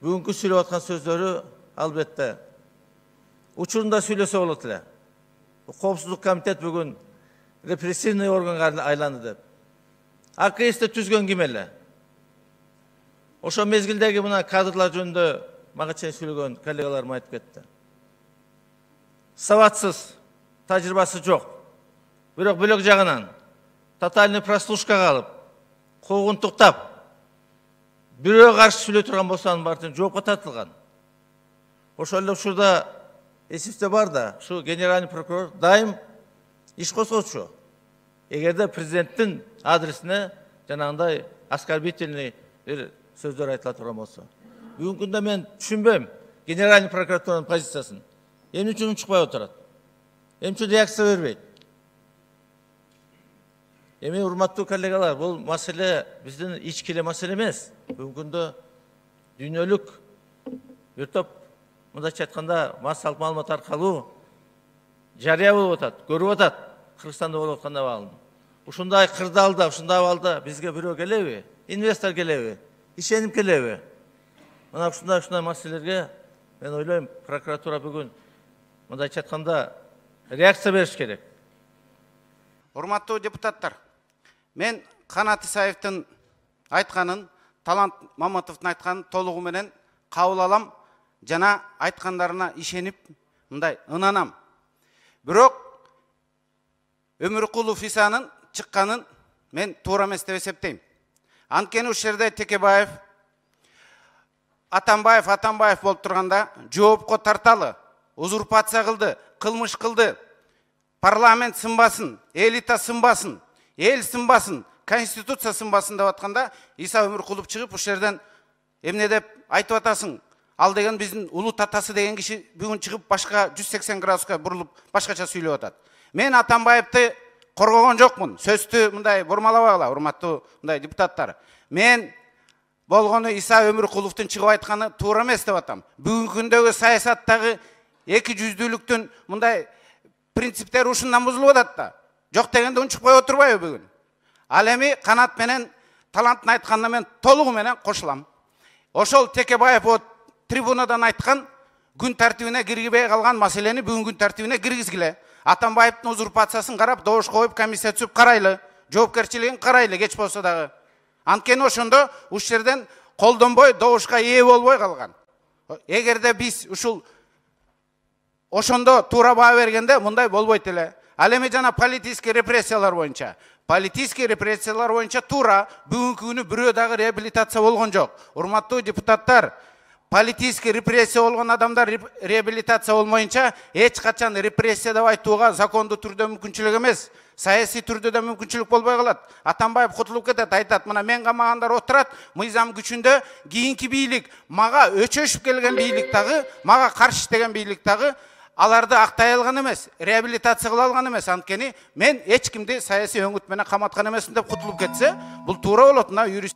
бүгүнкү сүйлөп аткан сөздөрү албетте учурунда сүйлөсө болот эле. Коопсуздук комитет бүгүн репрессивный органга айланды деп. АКС'ти түзгөн ким эле? Ошо мезгилдеги мына кадрлар жөнүндө мага чейин сүйлөгөн коллегаларым айтып кетти. Сабатсыз, тажрыйбасы жок. Бирок бөлөк жагынан тотальный прослушкага алып, куугунтуктап, бирөө каршы сүйлөй турган болсо анын баардыгы жоопко тартылган. Ошол эле учурда эсибизде бар да, ушу генеральный прокурор дайым иш козгоочу. Эгерде президенттин адресине жанагындай оскорбительный бир сөздөр айтыла турган болсо. Бүгүнкү күндө мен түшүнбөйм генеральный прокуратуранын позициясын. Эмне үчүн чыкпай отурат? Эмне үчүн реакция бербейт? Эми урматтуу коллегалар, бул маселе биздин ички эле маселе эмес. Бүгүнкү күндө дүйнөлүк бир топ мындайча айтканда массалык маалымат аркылуу жарыя болуп атат, көрүп атат Кыргызстанда болуп аткан абалын. Ушундай кырдаалда, ушундай абалда бизге бирөө келеби? Инвестор келеби? Ишенип келеби? Мына ушундай маселелерге мен ойлойм, прокуратура бүгүн мындайча айтканда реакция бериш керек. Урматтуу депутаттар, мен Канат Исаевдин айтканын, Талант Маматовдун айтканын толугу менен кабыл алам, жана айткандарына ишенип, мындай ынанам. Бирок Өмүркулов Исанын чыкканын мен туура эмес деп эсептейм. Анткени ушул жерде Текебаев, Атамбаев болуп турганда жоопко тарталы, узурпация кылды, кылмыш кылды. Парламент сынбасын, элита сынбасын, эл сынбасын, конституция сынбасын деп атканда Иса Өмүркулов чыгып ушул жерден эмне деп айтып атасың? Ал деген биздин улут атасы деген киши бүгүн чыгып башка 180 градуска бурулуп башкача сүйлөп атат. Мен Атамбаевди коргогон жокмун. Сөздү мындай бурмалабагыла, урматтуу мындай депутаттар. Мен болгону Иса Өмүркуловдун чыгып айтканы туура эмес деп атам. Бүгүнкү күндөгү саясаттагы эки жүздүүлүктүн мындай принциптери ушундан бузулуп атат да. Жок дегенде унчукпай отурбайбы бүгүн? Ал эми Канат менен Таланттын айтканына мен толугу менен кошулам. Ошол Текебаев трибунадан айткан күн тартибине киргибей калган маселени бүгүн күн тартибине киргизгиле. Атамбаевдин узурпациясын карап, добуш коюп, комиссия түзүп карайлы, жоопкерчилигин карайлы кеч болсо дагы. Анткени ошондо ушул жерден колдонбой, добушка ээ болбой калган. Эгерде биз ушул ошондо туура баа бергенде мындай болбойт эле. Ал эми жана политический репрессиялар боюнча. Политический репрессиялар боюнча туура бүгүнкү күнү бирөө дагы реабилитация болгон жок. Урматтуу депутаттар, политический репрессия болгон адамдар реабилитация болмоюнча эч качан репрессия деп айтууга закондуу түрдө мүмкүнчүлүк эмес. Саясий түрдө да мүмкүнчүлүк болбой калат. Атамбаев кутулуп кетет, айтат, мына мен камагандар отурат, мыйзам күчүндө кийинки бийлик, мага өчөшүп келген бийлик дагы, мага каршы иштеген бийлик дагы аларды актай алган эмес, реабилитация кыла алган эмес. Анткени мен эч кимди саясий өңүт менен каматкан эмесмин деп кутулуп кетсе, бул туура болот. Мына юрист